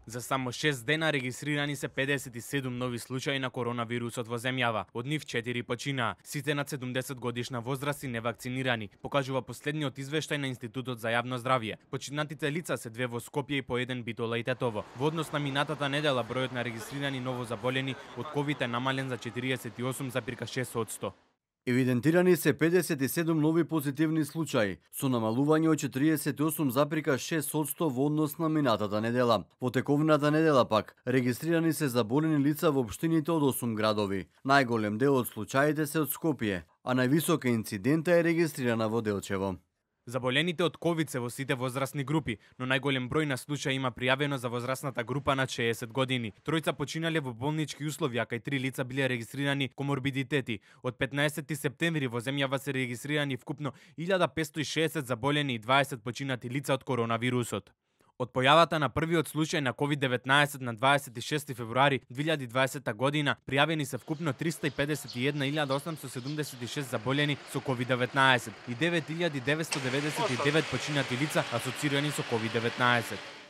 За само 6 дена регистрирани се 57 нови случаи на коронавирусот во земјава. Од нив 4 починаа. Сите над 70 годишна возраст и невакцинирани, покажува последниот извештај на Институтот за јавно здравје. Починатите лица се 2 во Скопје и по 1 Битола и Тетово. Во однос на минатата недела бројот на регистрирани новозаболени од ковид е намален за 48,6%. Евидентирани се 57 нови позитивни случаи, со намалување од 48,6% во однос на минатата недела. Во тековната недела пак, регистрирани се заболени лица во општините од 8 градови. Најголем дел од случаите се од Скопје, а највисока инцидента е регистрирана во Делчево. Заболените од ковид се во сите возрастни групи, но најголем број на случаи има пријавено за возрастната група над 60 години. Тројца починале во болнички услови, а кај 3 лица биле регистрирани коморбидитети. Од 15 септември во земјава се регистрирани вкупно 1560 заболени и 20 починати лица од коронавирусот. Од појавата на првиот случај на COVID-19 на 26 февруари 2020 година, пријавени се вкупно 351.876 заболени со COVID-19 и 9.999 починати лица асоцирани со COVID-19.